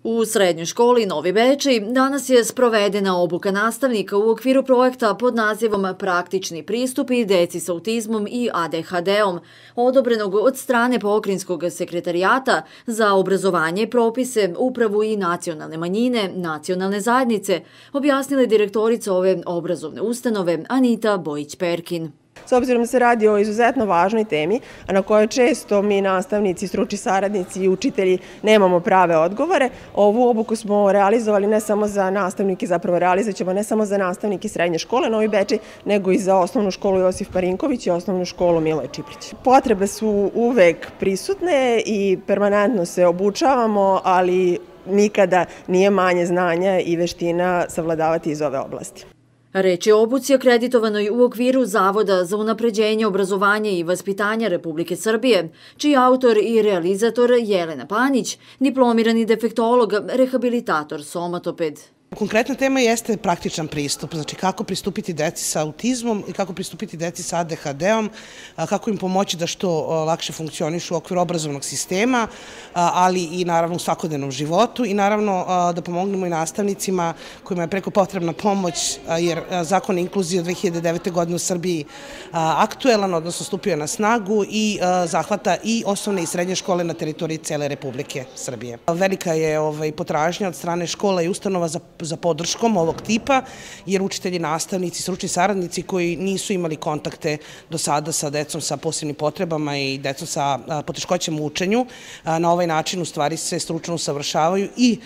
U srednjoj školi Novi Bečej danas je sprovedena obuka nastavnika u okviru projekta pod nazivom Praktični pristupi deci s autizmom i ADHD-om, odobrenog od strane Pokrajinskog sekretarijata za obrazovanje, propise, upravu i nacionalne manjine, nacionalne zajednice, objasnila je direktorica ove obrazovne ustanove Anita Bojić-Perkin. S obzirom da se radi o izuzetno važnoj temi, a na kojoj često mi nastavnici, stručni saradnici i učitelji nemamo prave odgovore, ovu obuku smo realizovali ne samo za nastavnike, zapravo realizovat ćemo ne samo za nastavnike srednje škole Novi Bečej, nego i za osnovnu školu Josif Marinković i osnovnu školu Miloje Čiplić. Potrebe su uvek prisutne i permanentno se obučavamo, ali nikada nije manje znanja i veština savladavati iz ove oblasti. Reč je o obuci akreditovanoj u okviru Zavoda za unapređenje obrazovanja i vaspitanja Republike Srbije, čiji autor i realizator Jelena Panić, diplomirani defektolog, rehabilitator, somatoped. Konkretna tema jeste praktičan pristup, znači kako pristupiti deci sa autizmom i kako pristupiti deci sa ADHD-om, kako im pomoći da što lakše funkcionišu u okviru obrazovnog sistema, ali i naravno u svakodnevnom životu i naravno da pomognemo i nastavnicima kojima je preko potrebna pomoć, jer zakon inkluzije od 2009. godine u Srbiji aktuelan, odnosno stupio na snagu i zahvata i osnovne i srednje škole na teritoriji cele Republike Srbije. Velika je potražnja od strane škola i ustanova za podrškom ovog tipa, jer učitelji, nastavnici, stručni saradnici koji nisu imali kontakte do sada sa decom sa posebnim potrebama i decom sa poteškoćama u učenju, na ovaj način u stvari se stručno usavršavaju i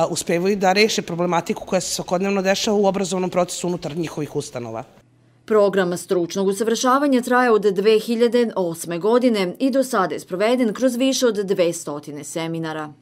uspevaju da reše problematiku koja se svakodnevno dešava u obrazovnom procesu unutar njihovih ustanova. Program stručnog usavršavanja traje od 2008. godine i do sada je sproveden kroz više od 200 seminara.